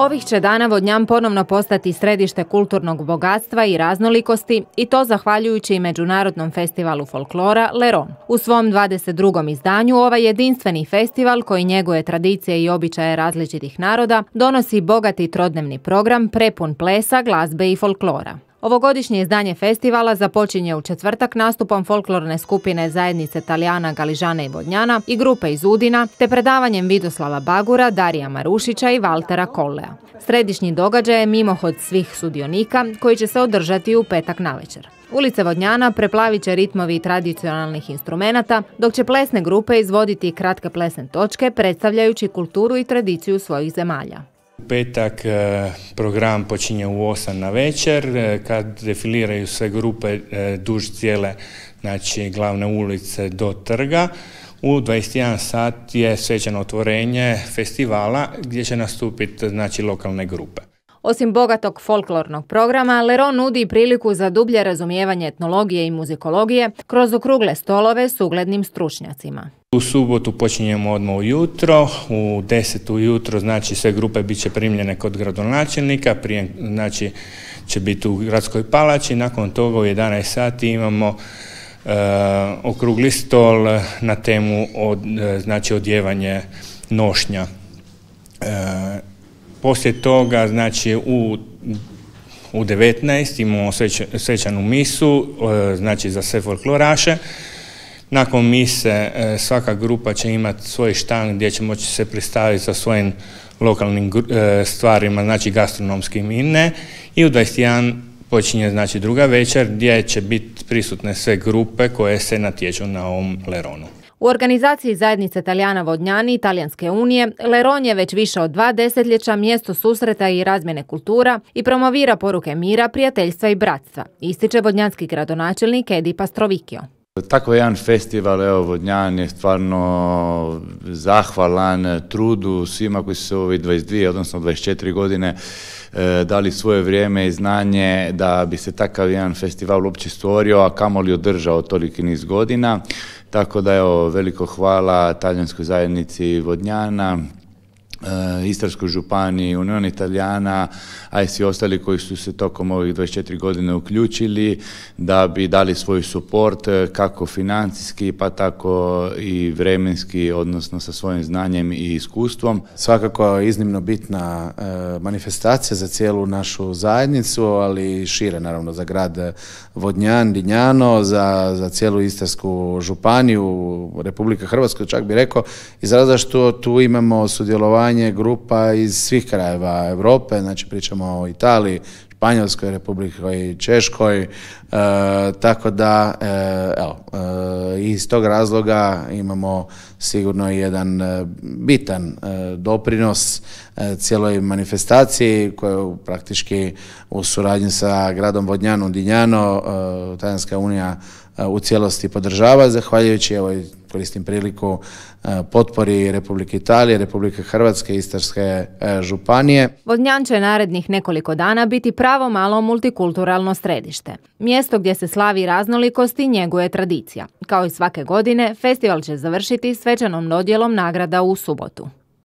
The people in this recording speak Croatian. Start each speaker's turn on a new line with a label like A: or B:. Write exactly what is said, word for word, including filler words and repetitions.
A: Ovih će dana Vodnjan ponovno postati središte kulturnog bogatstva i raznolikosti i to zahvaljujući i Međunarodnom festivalu folklora Leron. U svom dvadeset drugom izdanju ovaj jedinstveni festival koji njeguje tradicije i običaje različitih naroda donosi bogati trodnevni program prepun plesa, glazbe i folklora. Ovogodišnje izdanje festivala započinje u četvrtak nastupom folklorne skupine zajednice Talijana, Galižana i Vodnjana i grupe iz Udina, te predavanjem Vidoslava Bagura, Darija Marušića i Valtera Kollea. Središnji događaj je mimohod svih sudionika koji će se održati u petak navečer. Ulice Vodnjana preplavit će ritmovi tradicionalnih instrumenata, dok će plesne grupe izvoditi kratke plesne točke predstavljajući kulturu i tradiciju svojih zemalja.
B: U petak program počinje u osam na večer, kad defiliraju sve grupe duž cijele, znači, glavne ulice do trga. U dvadeset jedan sat je svečano otvorenje festivala gdje će nastupiti, znači, lokalne grupe.
A: Osim bogatog folklornog programa, Leron nudi priliku za dublje razumijevanje etnologije i muzikologije kroz okrugle stolove s uglednim stručnjacima.
B: U subotu počinjemo odmah ujutro, u deset ujutro, znači, sve grupe bit će primljene kod gradonačelnika, prije, znači, će biti u gradskoj palači, nakon toga u jedanaest sati imamo e, okrugli stol na temu od, znači, odjevanje nošnja. E, Poslije toga, znači, u, u devetnaest imamo sveć, svečanu misu, znači, za sve folkloraše. Nakon mise svaka grupa će imati svoj štand gdje će moći se predstaviti sa svojim lokalnim stvarima, znači gastronomskim i ne. I u dvadeset jedan počinje, znači, druga večer gdje će biti prisutne sve grupe koje se natječu na ovom Leronu.
A: U organizaciji zajednice Talijana Vodnjani i Talijanske unije, Leron je već više od dva desetljeća mjesto susreta i razmjene kultura i promovira poruke mira, prijateljstva i bratstva, ističe vodnjanski gradonačelnik Edi Pastrovikio.
C: Tako jedan festival, evo, Vodnjan je stvarno zahvalan trudu svima koji su se u ovih dvadeset dvije, odnosno dvadeset četiri godine e, dali svoje vrijeme i znanje da bi se takav jedan festival uopće stvorio, a kamoli održao toliki niz godina. Tako da, evo, veliko hvala talijanskoj zajednici Vodnjana, Istarskoj županiji, Unioni Talijana, a i svi ostali koji su se tokom ovih dvadeset četiri godine uključili da bi dali svoj suport kako financijski pa tako i vremenski, odnosno sa svojim znanjem i iskustvom.
D: Svakako je iznimno bitna e, manifestacija za cijelu našu zajednicu, ali i šire, naravno, za grad Vodnjan, Dinjano, za, za cijelu Istarsku županiju, Republika Hrvatska, čak bi rekao, iz razloga što tu imamo sudjelovanje grupa iz svih krajeva Europe, znači pričamo o Italiji, Španjolskoj, Republikoj Češkoj, e, tako da, e, evo, e, iz tog razloga imamo sigurno jedan e, bitan e, doprinos e, cijeloj manifestaciji koju praktički u suradnji sa gradom Vodnjanom, Dinjano, e, Talijanska unija e, u cijelosti podržava, zahvaljujući, evo, koristim priliku, potpori Republike Italije, Republike Hrvatske, Istarske županije.
A: Vodnjan će narednih nekoliko dana biti pravo malo multikulturalno središte. Mjesto gdje se slavi raznolikost i njeguje tradicija. Kao i svake godine, festival će završiti svečanom dodjelom nagrada u subotu.